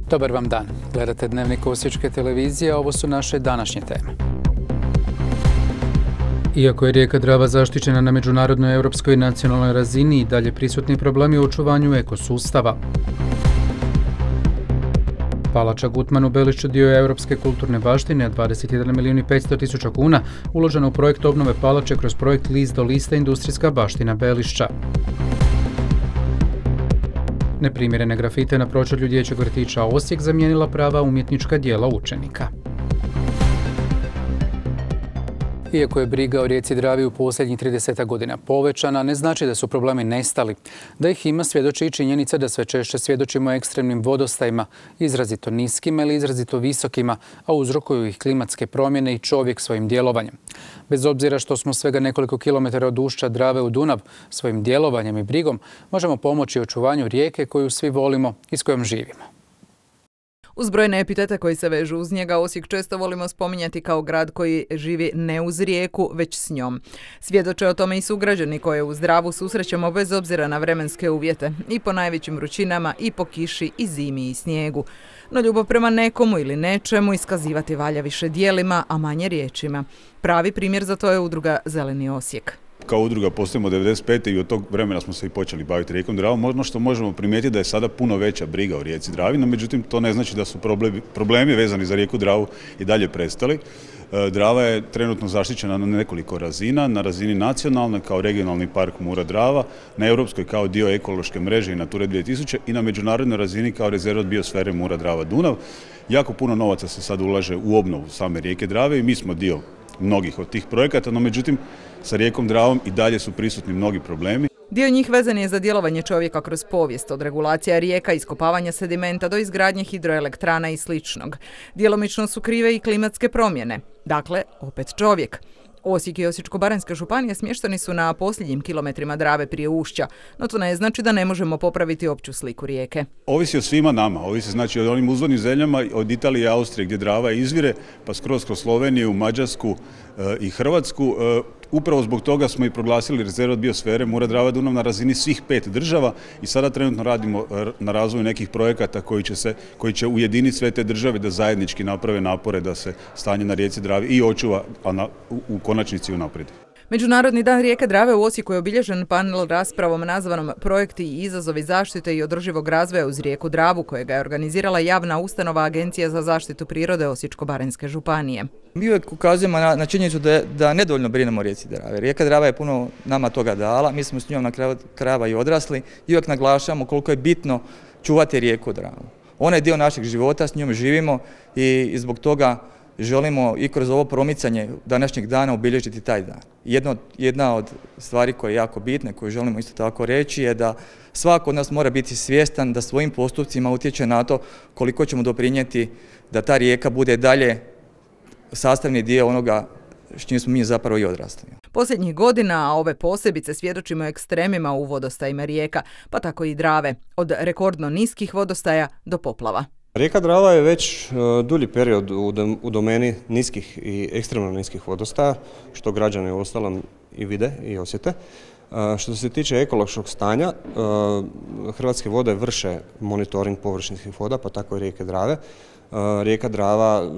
Dobar vam dan. Gledate Dnevnik Osječke televizije, a ovo su naše današnje teme. Iako je rijeka Drava zaštićena na međunarodnoj, europskoj i nacionalnoj razini, i dalje prisutni problemi u očuvanju ekosustava. Palača Gutman u Belišću dio je europske kulturne baštine, a 21 milijun i 500 tisuća kuna uloženo u projekt obnove palače kroz projekt List do lista industrijska baština Belišća. Neprimjerene grafite na pročelju dječjeg vrtića Osijek zamijenila prava umjetnička djela učenika. Iako je briga o rijeci Dravi u posljednjih 30 godina povećana, ne znači da su problemi nestali. Da ih ima svjedoči i činjenica da sve češće svjedočimo ekstremnim vodostajima, izrazito niskima ili izrazito visokima, a uzrokuju ih klimatske promjene i čovjek svojim djelovanjem. Bez obzira što smo svega nekoliko kilometara od ušća Drave u Dunav, svojim djelovanjem i brigom možemo pomoći očuvanju rijeke koju svi volimo i s kojom živimo. Uz brojne epitete koji se vežu uz njega, Osijek često volimo spominjati kao grad koji živi ne uz rijeku, već s njom. Svjedoče o tome i sugrađani koje uz Dravu susrećemo bez obzira na vremenske uvjete, i po najvećim vrućinama, i po kiši, i zimi, i snijegu. No ljubav prema nekomu ili nečemu iskazivati valja više djelima, a manje riječima. Pravi primjer za to je udruga Zeleni Osijek. Kao udruga postojimo 1995. i od tog vremena smo se i počeli baviti rijekom Dravom. Ono što možemo primijetiti da je sada puno veća briga o rijeci Dravi, no međutim to ne znači da su problemi vezani za rijeku Dravu i dalje prestali. Drava je trenutno zaštićena na nekoliko razina, na razini nacionalne kao regionalni park Mura-Drava, na europskoj kao dio ekološke mreže i Nature 2000 i na međunarodnoj razini kao rezervat biosfere Mura-Drava-Dunav. Jako puno novaca se sad ulaže u obnovu same rijeke Drave i mi smo dio mnogih od tih projekata, no međutim sa rijekom Dravom i dalje su prisutni mnogi problemi. Dio njih vezan je za djelovanje čovjeka kroz povijest, od regulacija rijeka, iskopavanja sedimenta do izgradnje hidroelektrana i sličnog. Djelomično su krive i klimatske promjene. Dakle, opet čovjek. Osijek i Osječko-baranjska županija smješteni su na posljednjim kilometrima Drave prije ušća, no to ne znači da ne možemo popraviti opću sliku rijeke. Ovisi o svima nama, ovisi znači od onim uzvodnim zemljama, od Italije i Austrije gdje Drava izvire, pa skroz kroz Sloveniju, Mađarsku i Hrvatsku. Upravo zbog toga smo i proglasili rezervat biosfere Mura-Drava-Dunav na razini svih 5 država i sada trenutno radimo na razvoju nekih projekata koji će ujediniti sve te države da zajednički naprave napore da se stanje na rijeci Dravi i očuva, a u konačnici unaprijedi. Međunarodni dan rijeke Drave u Osijeku je obilježen panel raspravom nazvanom Projekti i izazovi zaštite i održivog razvoja uz rijeku Dravu, kojega je organizirala javna ustanova Agencija za zaštitu prirode Osječko-baranjske županije. Mi uvijek ukazujemo na činjenicu da nedovoljno brinemo o rijeci Drave. Rijeka Drava je puno nama toga dala, mi smo s njom na kraju krajeva i odrasli i uvijek naglašavamo koliko je bitno čuvati rijeku Dravu. Ona je dio našeg života, s njom živimo i zbog toga želimo i kroz ovo promicanje današnjeg dana obilježiti taj dan. Jedna od stvari koja je jako bitna, koju želimo isto tako reći, je da svako od nas mora biti svjestan da svojim postupcima utječe na to koliko ćemo doprinijeti da ta rijeka bude dalje sastavni dio onoga s čim smo mi zapravo i odrasli. Posljednjih godina, a ove posebice, svjedočimo ekstremima u vodostajima rijeka, pa tako i Drave, od rekordno niskih vodostaja do poplava. Rijeka Drava je već dulji period u domeni niskih i ekstremno niskih vodostaja, što građani uostalom i vide i osjete. Što se tiče ekološkog stanja, Hrvatske vode vrše monitoring površinskih voda, pa tako i rijeke Drave. Rijeka Drava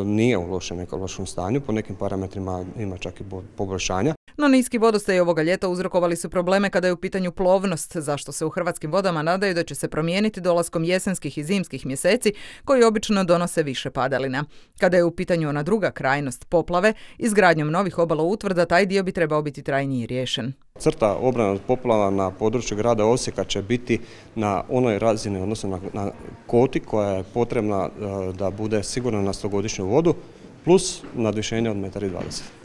nije u lošem ekološkom stanju, po nekim parametrima ima čak i poboljšanja. No niski vodostaji ovoga ljeta uzrokovali su probleme kada je u pitanju plovnost, zašto se u Hrvatskim vodama nadaju da će se promijeniti dolaskom jesenskih i zimskih mjeseci koji obično donose više padalina. Kada je u pitanju ona druga krajnost, poplave, izgradnjom novih obaloutvrda taj dio bi trebao biti trajnije riješen. Crta obrane od poplava na području grada Osijeka će biti na onoj razini, odnosno na koti koja je potrebna da bude sigurna na 100-godišnju vodu, plus nadvišenje od 1,20 m.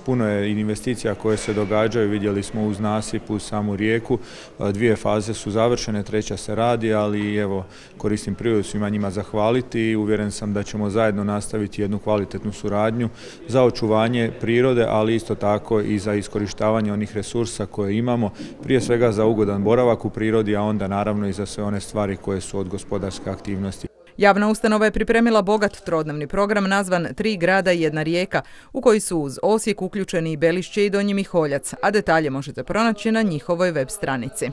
Puno je investicija koje se događaju, vidjeli smo uz nasip, uz samu rijeku. 2 faze su završene, 3. se radi, ali evo koristim prigodu svima njima zahvaliti i uvjeren sam da ćemo zajedno nastaviti jednu kvalitetnu suradnju za očuvanje prirode, ali isto tako i za iskorištavanje onih resursa koje imamo, prije svega za ugodan boravak u prirodi, a onda naravno i za sve one stvari koje su od gospodarske aktivnosti. Javna ustanova je pripremila bogat trodnevni program nazvan 3 grada i 1 rijeka, u koji su uz Osijek uključeni i Belišće i Donji Miholjac, a detalje možete pronaći na njihovoj web stranici.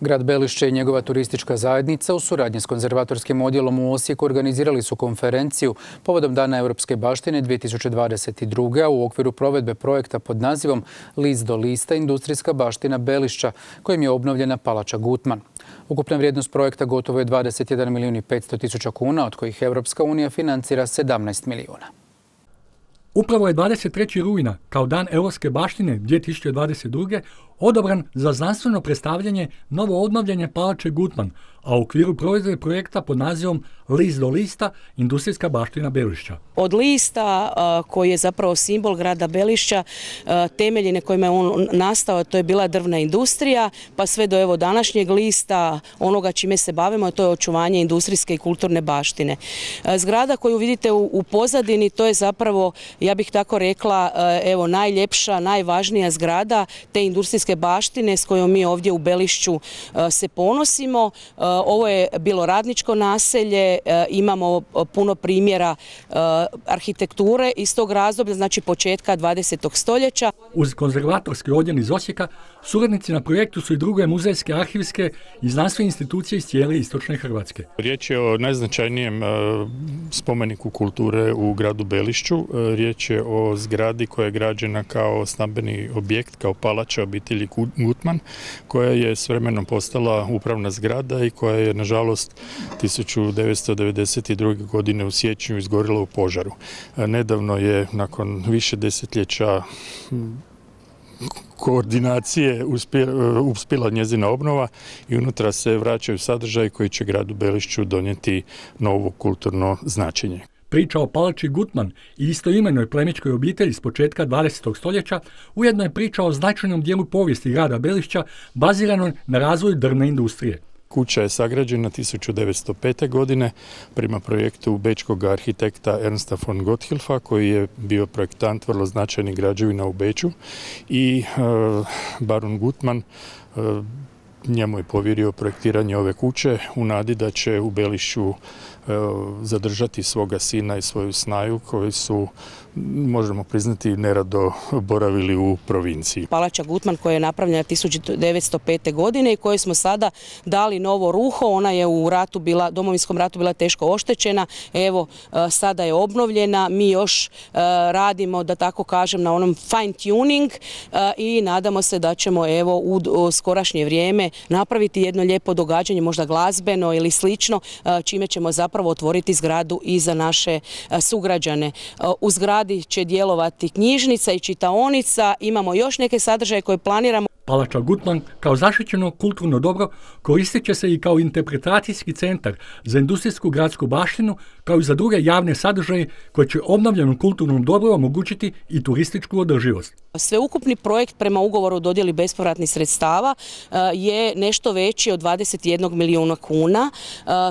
Grad Belišće i njegova turistička zajednica u suradnji s konzervatorskim odjelom u Osijeku organizirali su konferenciju povodom Dana europske baštine 2022. a u okviru provedbe projekta pod nazivom List do lista industrijska baština Belišća, kojim je obnovljena palača Gutman. Ukupna vrijednost projekta gotovo je 21 milijun i 500 tisuća kuna, od kojih Europska unija financira 17 milijuna. Upravo je 23. rujna, kao Dan europske baštine 2022. odabran za znanstveno predstavljanje novo obnovljene palače Gutman, a u okviru provedbe projekta pod nazivom List do lista industrijska baština Belišća. Od lista koji je zapravo simbol grada Belišća, temelji na kojima je on nastao, to je bila drvna industrija, pa sve do evo današnjeg lista, onoga čime se bavimo, to je očuvanje industrijske i kulturne baštine. Zgrada koju vidite u pozadini, to je zapravo, ja bih tako rekla, evo najljepša, najvažnija zgrada te industrijske baštine s kojom mi ovdje u Belišću se ponosimo. Ovo je bilo radničko naselje, imamo puno primjera arhitekture iz tog razdoblja, znači početka 20. stoljeća. Uz konzervatorski odjel iz Osijeka, suradnici na projektu su i druge muzejske, arhivske i znanstvene institucije iz cijele istočne Hrvatske. Riječ je o najznačajnijem spomeniku kulture u gradu Belišću. Riječ je o zgradi koja je građena kao stambeni objekt, kao palača obitelji Gutman, koja je s vremenom postala upravna zgrada i koja je, nažalost, 1992. godine u siječnju izgorila u požaru. Nedavno je, nakon više desetljeća koordinacije, uspjela njezina obnova i unutra se vraćaju sadržaji koji će gradu Belišću donijeti novo kulturno značenje. Priča o palači Gutman i istoimenoj plemićkoj obitelji s početka 20. stoljeća ujedno je priča o značajnom dijelu povijesti grada Belišća baziranoj na razvoju drvne industrije. Kuća je sagrađena 1905. godine prema projektu bečkog arhitekta Ernsta von Gotthilfa, koji je bio projektant vrlo značajnih građevina u Beču, i baron Gutman njemu je povjerio projektiranje ove kuće u nadi da će u Belišću zadržati svoga sina i svoju snaju koji su, možemo priznati, nerado boravili u provinciji. Palača Gutman koja je napravljena 1905. godine i kojoj smo sada dali novo ruho, ona je u Domovinskom ratu bila teško oštećena, evo sada je obnovljena, mi još radimo, da tako kažem, na onom fine tuning i nadamo se da ćemo evo u skorašnje vrijeme napraviti jedno lijepo događanje, možda glazbeno ili slično, čime ćemo zapravo otvoriti zgradu i za naše sugrađane. U zgradi će djelovati knjižnica i čitaonica, imamo još neke sadržaje koje planiramo. Palača Gutman kao zaštićeno kulturno dobro koristit će se i kao interpretacijski centar za industrijsku gradsku baštinu, kao i za druge javne sadržaje koje će obnovljenom kulturnom dobru omogućiti i turističku održivost. Sveukupni projekt prema ugovoru o dodjeli bespovratnih sredstava je nešto veći od 21 milijuna kuna.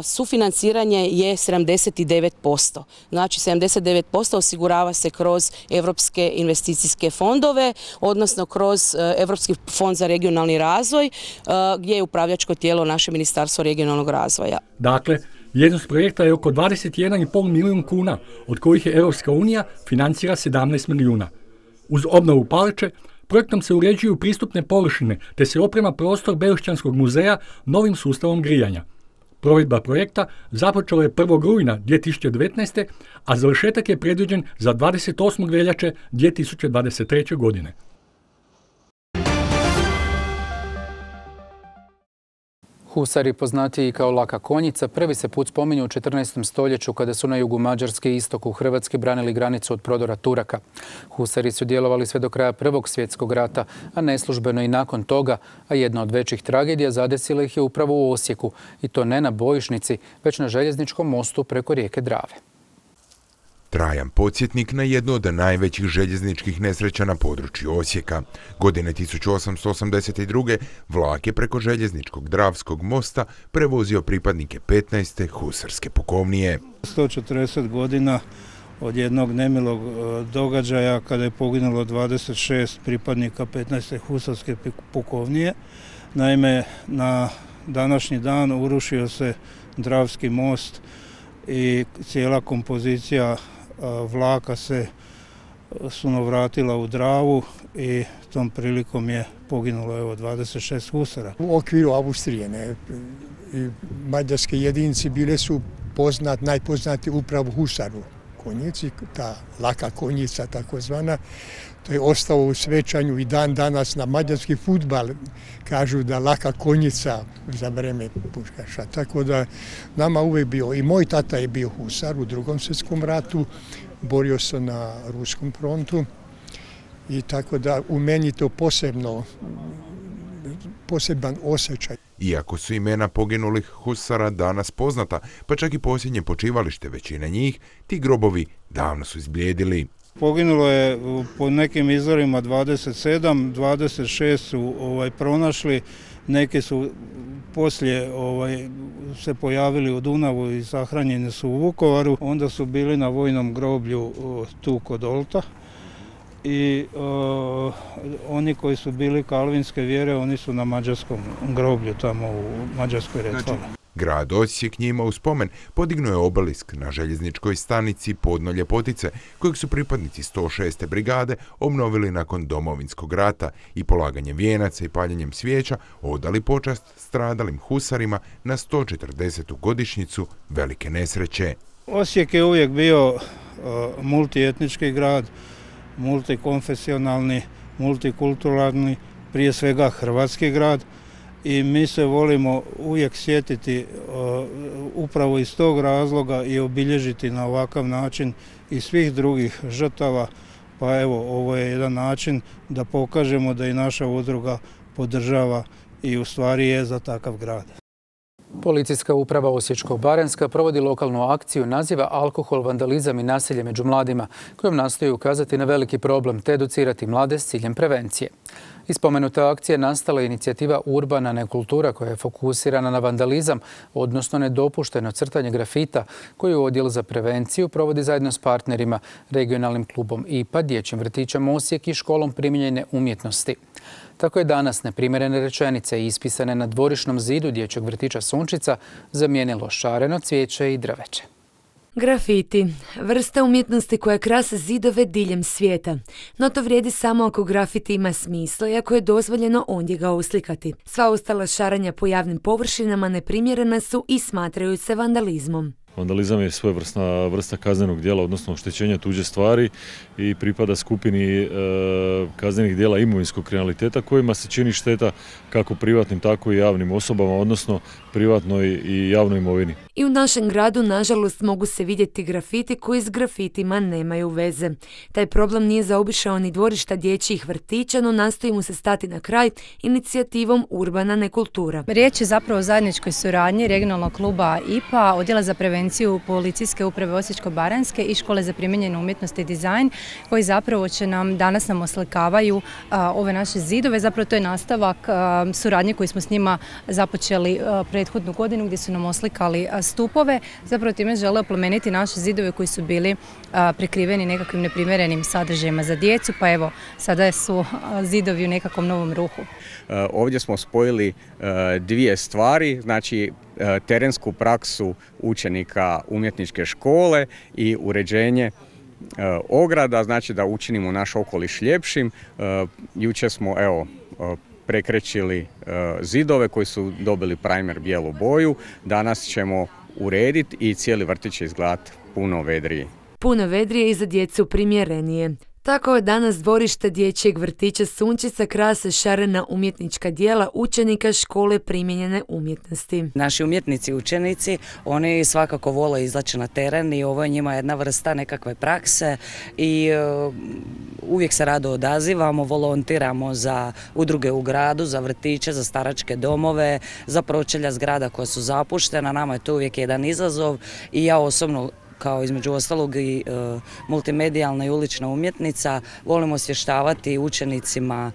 Sufinanciranje je 79%. Znači 79% osigurava se kroz Europske investicijske fondove, odnosno kroz Europski fond za regionalni razvoj, gdje je upravljačko tijelo naše Ministarstvo regionalnog razvoja. Dakle, vrijednost projekta je oko 21,5 milijun kuna, od kojih je Europska unija financira 17 milijuna. Uz obnovu palače, projektom se uređuju pristupne površine, te se oprema prostor Belišćanskog muzeja novim sustavom grijanja. Provedba projekta započela je 1. rujna 2019. a završetak je predviđen za 28. veljače 2023. godine. Husari, poznatiji kao laka konjica, prvi se put spominju u 14. stoljeću kada su na jugu Mađarske i istoku Hrvatske branili granicu od prodora Turaka. Husari su djelovali sve do kraja Prvog svjetskog rata, a neslužbeno i nakon toga, a jedna od većih tragedija zadesila ih je upravo u Osijeku, i to ne na bojišnici, već na željezničkom mostu preko rijeke Drave. Trajan podsjetnik na jednu od najvećih željezničkih nesreća na području Osijeka. Godine 1882. vlak je preko željezničkog Dravskog mosta prevozio pripadnike 15. husarske pukovnije. 140 godina od jednog nemilog događaja kada je poginulo 26 pripadnika 15. husarske pukovnije. Naime, na današnji dan urušio se Dravski most i cijela kompozicija vlaka se sunovratila u Dravu i tom prilikom je poginulo 26 husara. U okviru Austrije i mađarske jedinice bile su najpoznati upravo husaru konjici, ta laka konjica takozvana. To je ostalo u svećanju i dan danas na mađarski fudbal. Kažu da laka konjica za vreme puškaša. Tako da nama uvijek bio, i moj tata je bio husar u Drugom svjetskom ratu, borio se na ruskom frontu i tako da u meni to poseban osjećaj. Iako su imena poginulih husara danas poznata, pa čak i posljednje počivalište većine njih, ti grobovi davno su izblijedili. Poginulo je po nekim izvorima 27, 26 su pronašli, neki su poslije se pojavili u Dunavu i sahranjeni su u Vukovaru, onda su bili na vojnom groblju tu kod Olta. I oni koji su bili kalvinske vjere, oni su na mađarskom groblju tamo u Mađarskoj Retvali. Grad Osijek njima u spomen podignuo je obelisk na željezničkoj stanici Podno Ljepotice, kojeg su pripadnici 106. brigade obnovili nakon Domovinskog rata i polaganjem vijenaca i paljenjem svijeća odali počast stradalim husarima na 140. godišnjicu velike nesreće. Osijek je uvijek bio multietnički grad, multikonfesionalni, multikulturalni, prije svega hrvatski grad i mi se volimo uvijek sjetiti upravo iz tog razloga i obilježiti na ovakav način i svih drugih žrtava. Pa evo, ovo je jedan način da pokažemo da i naša udruga podržava i u stvari je za takav grad. Policijska uprava Osječko-baranjska provodi lokalnu akciju naziva Alkohol, vandalizam i nasilje među mladima, kojom nastoji ukazati na veliki problem te educirati mlade s ciljem prevencije. Iz spomenute akcije nastala je inicijativa Urbana nekultura koja je fokusirana na vandalizam, odnosno nedopušteno crtanje grafita, koju Odjel za prevenciju provodi zajedno s partnerima, regionalnim klubom IPA, dječjim vrtićem Osijek i školom primijenjene umjetnosti. Tako je danas neprimjerene rečenice ispisane na dvorišnom zidu dječjeg vrtića Sunčica zamijenilo šareno cvijeće i drveće. Grafiti, vrsta umjetnosti koja krase zidove diljem svijeta. No to vrijedi samo ako grafiti ima smisla i ako je dozvoljeno ondje ga uslikati. Sva ostala šaranja po javnim površinama neprimjerena su i smatraju se vandalizmom. Vandalizam je svojevrsna vrsta kaznenog djela, odnosno oštećenja tuđe stvari i pripada skupini kaznenih djela imovinskog kriminaliteta kojima se čini šteta kako privatnim, tako i javnim osobama, odnosno privatnoj i javnoj imovini. I u našem gradu, nažalost, mogu se vidjeti grafiti koji s grafitima nemaju veze. Taj problem nije zaobišao ni dvorišta dječjih vrtića, no nastoji mu se stati na kraj inicijativom Urbana nekultura. Riječ je zapravo o zajedničkoj suradnji regionalnog kluba IPA, Odjela za prevenciju Policijske uprave Osječko-baranjske i Škole za primijenjenu umjetnost i dizajn, koji zapravo će danas nam oslikavaju ove naše zidove. Zapravo to je nastavak suradnje koju smo s njima započeli prethodnu godinu gdje su nam oslikali stupove. Zapravo time žele oplemeniti naše zidove koji su bili prekriveni nekakvim neprimjerenim sadržajima za djecu, pa evo, sada su zidovi u nekakvom novom ruhu. Ovdje smo spojili dvije stvari, znači terensku praksu učenika umjetničke škole i uređenje ograda, znači da učinimo naš okoliš ljepšim. Jučer smo prekrećili zidove koji su dobili primer bijelu boju. Danas ćemo urediti i cijeli vrtić će izgledati puno vedrije. Puno vedrije i za djecu primjerenije. Tako je danas dvorište dječjeg vrtića Sunčica krase šarena umjetnička djela učenika škole primijenjene umjetnosti. Naši umjetnici i učenici, oni svakako vole izaći na teren i ovo je njima jedna vrsta nekakve prakse i uvijek se rado odazivamo, volontiramo za udruge u gradu, za vrtiće, za staračke domove, za pročelja zgrada koja su zapuštena. Nama je to uvijek jedan izazov i ja osobno, kao između ostalog i multimedijalna i ulična umjetnica, volimo osvještavati učenicima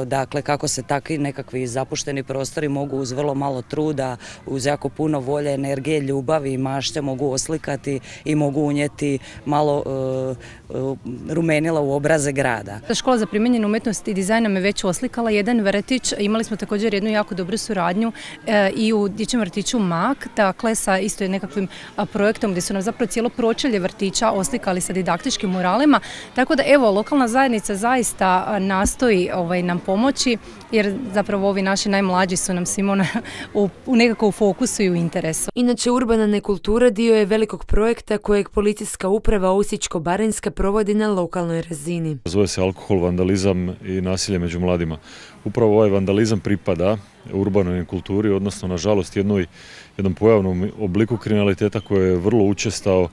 dakle, kako se takvi nekakvi zapušteni prostori mogu uz vrlo malo truda, uz jako puno volje, energije, ljubavi i mašte mogu oslikati i mogu unijeti malo rumenila u obraze grada. Škola za primijenjenu umjetnost i dizajn nam je već oslikala jedan vrtić. Imali smo također jednu jako dobru suradnju i u dječjem vrtiću Mak, dakle sa isto nekakvim projektom gdje su nam zapravo zapravo cijelo pročelje vrtića oslikali sa didaktičkim muralima, tako da evo lokalna zajednica zaista nastoji nam pomoći, jer zapravo ovi naši najmlađi su nam svima nekako u fokusu i u interesu. Inače, urbana nekultura dio je velikog projekta kojeg policijska uprava Osječko-baranjska provodi na lokalnoj razini. Zove se alkohol, vandalizam i nasilje među mladima. Upravo ovaj vandalizam pripada urbanoj kulturi, odnosno nažalost jednom pojavnom obliku kriminaliteta koji je vrlo učestao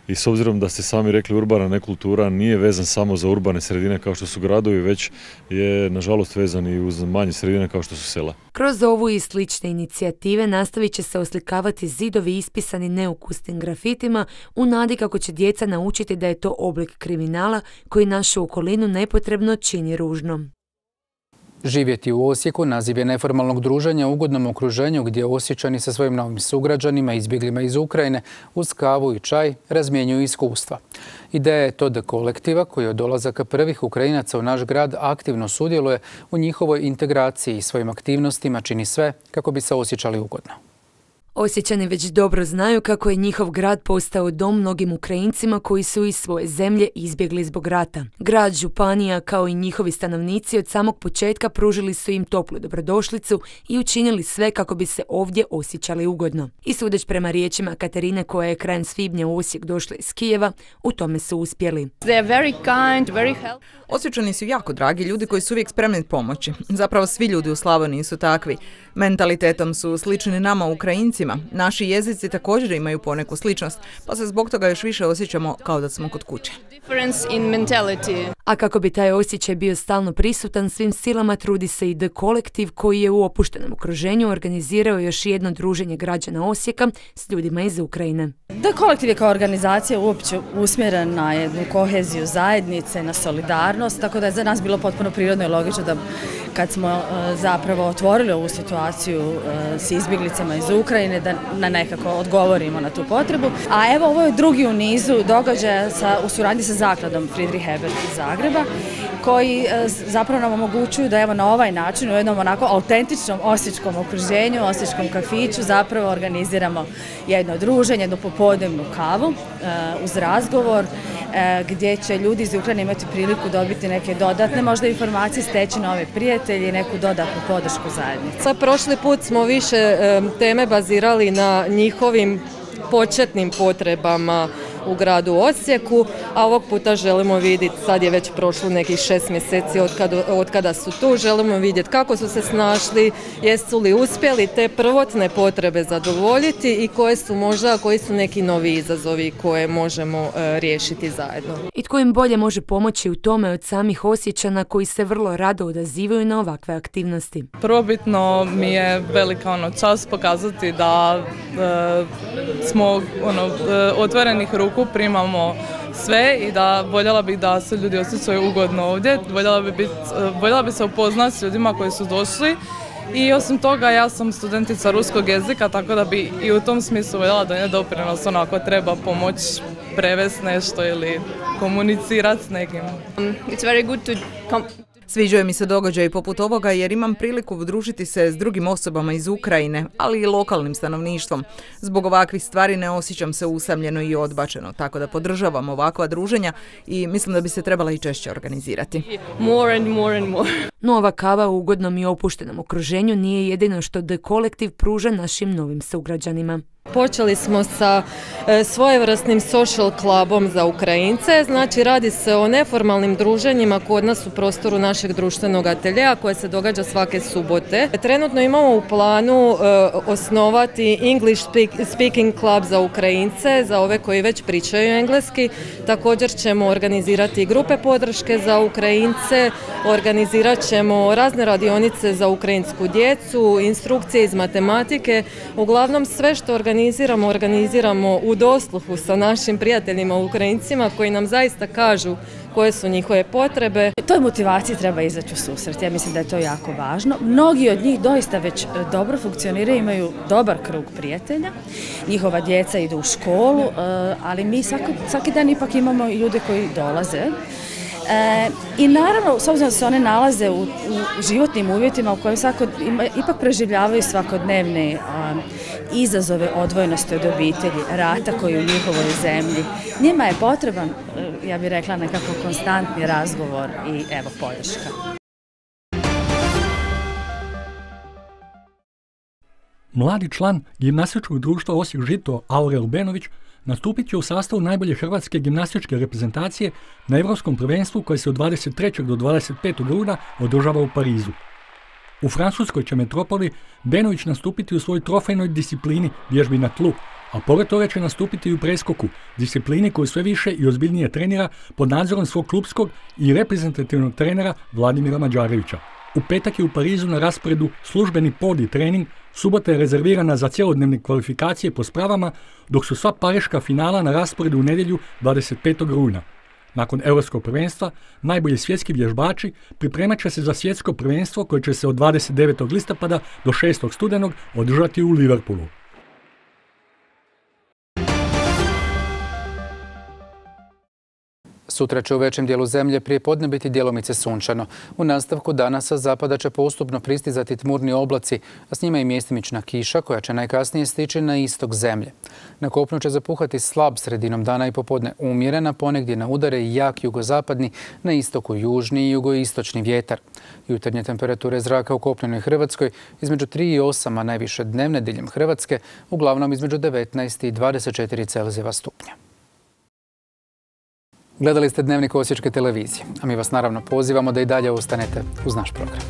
i s obzirom da ste sami rekli urbana nekultura nije vezan samo za urbane sredine kao što su gradovi, već je nažalost vezan i uz manje sredine kao što su sela. Kroz ovu i slične inicijative nastavit će se oslikavati zidovi ispisani neukusnim grafitima u nadi kako će djeca naučiti da je to oblik kriminala koji našu okolinu nepotrebno čini ružnom. Živjeti u Osijeku naziv je neformalnog druženja u ugodnom okruženju gdje Osječani sa svojim novim sugrađanima, izbjeglima iz Ukrajine, uz kavu i čaj razmjenjuju iskustva. Ideja je to da kolektiva koji od dolazaka prvih Ukrajinaca u naš grad aktivno sudjeluje u njihovoj integraciji i svojim aktivnostima čini sve kako bi se osjećali ugodno. Osječani već dobro znaju kako je njihov grad postao dom mnogim Ukrajincima koji su iz svoje zemlje izbjegli zbog rata. Grad, županija kao i njihovi stanovnici od samog početka pružili su im toplu dobrodošlicu i učinili sve kako bi se ovdje osjećali ugodno. I sudeć prema riječima Katarine koja je krajem svibnja u Osijek došla iz Kijeva, u tome su uspjeli. Osječani su jako dragi ljudi koji su uvijek spremni pomoći. Zapravo svi ljudi u Slavoniji su takvi. Mentalitetom su slični nama Ukrajincima. Naši jezici također imaju poneku sličnost, pa se zbog toga još više osjećamo kao da smo kod kuće. A kako bi taj osjećaj bio stalno prisutan, svim silama trudi se i The Collective koji je u opuštenom okruženju organizirao još jedno druženje građana Osijeka s ljudima iz Ukrajine. The Collective je kao organizacija uopće usmjerena na jednu koheziju zajednice, na solidarnost, tako da je za nas bilo potpuno prirodno i logično da kad smo zapravo otvorili ovu situaciju s izbjeglicama iz Ukrajine, da nekako odgovorimo na tu potrebu. A evo ovo je drugi u nizu događaja u suradnji sa zakladom Friedrich Ebert iz Zagreba, koji zapravo nam omogućuju da evo na ovaj način u jednom onako autentičnom osječkom okruženju, osječkom kafiću zapravo organiziramo jedno druženje, jednu popodnevnu kavu uz razgovor gdje će ljudi iz Ukrajine imati priliku dobiti neke dodatne možda informacije, steći nove prijatelje i neku dodatnu podršku zajednice. Prošli put smo više teme bazirali na njihovim početnim potrebama u gradu Osijeku, a ovog puta želimo vidjeti, sad je već prošlo nekih 6 mjeseci od kada su tu, želimo vidjeti kako su se snašli, jesu li uspjeli te prvotne potrebe zadovoljiti i koji su neki novi izazovi koje možemo riješiti zajedno. I tko im bolje može pomoći u tome od samih Osječana koji se vrlo rado odazivaju na ovakve aktivnosti. Prvobitno mi je velika čast pokazati da smo otvorenih ruku primamo sve i da voljela bih da se ljudi osjećaju ugodno ovdje, voljela bi se upoznati s ljudima koji su došli i osim toga ja sam studentica ruskog jezika, tako da bi i u tom smislu voljela donijeti doprinos ako treba pomoći prevesti nešto ili komunicirati s nekim. It's very good to Sviđaju mi se događaji poput ovoga jer imam priliku družiti se s drugim osobama iz Ukrajine, ali i lokalnim stanovništvom. Zbog ovakvih stvari ne osjećam se usamljeno i odbačeno, tako da podržavam ovakva druženja i mislim da bi se trebala i češće organizirati. More and more and more. No ova kava u ugodnom i opuštenom okruženju nije jedino što The Collective pruža našim novim sugrađanima. Počeli smo sa svojevrsnim social clubom za Ukrajince, znači radi se o neformalnim druženjima kod nas u prostoru našeg društvenog ateljea koje se događa svake subote. Trenutno imamo u planu osnovati English speaking club za Ukrajince, za ove koji već pričaju engleski. Također ćemo organizirati grupe podrške za Ukrajince, organizirat ćemo razne radionice za ukrajinsku djecu, instrukcije iz matematike, uglavnom sve što organiziramo u dosluhu sa našim prijateljima Ukrajincima koji nam zaista kažu koje su njihove potrebe. Toj motivaciji treba izaći u susret, ja mislim da je to jako važno. Mnogi od njih doista već dobro funkcioniraju, imaju dobar krug prijatelja, njihova djeca idu u školu, ali mi svaki dan ipak imamo i ljude koji dolaze I naravno, s obzirom da se one nalaze u životnim uvjetima u kojim ipak preživljavaju svakodnevne izazove odvojenosti od obitelji, rata koji je u njihovoj zemlji, njima je potreban, ja bih rekla, nekako konstantni razgovor i evo podrška. Mladi član gimnastičkog društva Osijek Žito Aurel Benović nastupit će u sastavu najbolje hrvatske gimnastičke reprezentacije na Europskom prvenstvu koje se od 23. do 25. rujna održava u Parizu. U francuskoj će metropoli Benović nastupiti u svojoj trofejnoj disciplini vježbi na tlu, a pored toga će nastupiti i u preskoku, disciplini koju sve više i ozbiljnije trenira pod nadzorom svog klupskog i reprezentativnog trenera Vladimira Mađarevića. U petak je u Parizu na rasporedu službeni podi trening, subota je rezervirana za cjelodnevne kvalifikacije po spravama, dok su sva pariška finala na rasporedu u nedjelju 25. rujna. Nakon Europskog prvenstva, najbolji svjetski vježbači pripremat će se za svjetsko prvenstvo koje će se od 29. listopada do 6. studenog održati u Liverpoolu. Sutra će u većem dijelu zemlje prije podne biti djelomice sunčano. U nastavku dana sa zapada će postupno pristizati tmurni oblaci, a s njima i mjestimična kiša koja će najkasnije stići na istok zemlje. Na kopnu će zapuhati slab sredinom dana i popodne umjerena, ponegdje na udare i jak jugozapadni, na istoku južni i jugoistočni vjetar. Jutarnje temperature zraka u kopnenoj Hrvatskoj između 3 i 8, a najviše dnevne diljem Hrvatske uglavnom između 19 i 24 Celzijeva stupnja. Gledali ste Dnevnik Osječke televizije, a mi vas naravno pozivamo da i dalje ostanete uz naš program.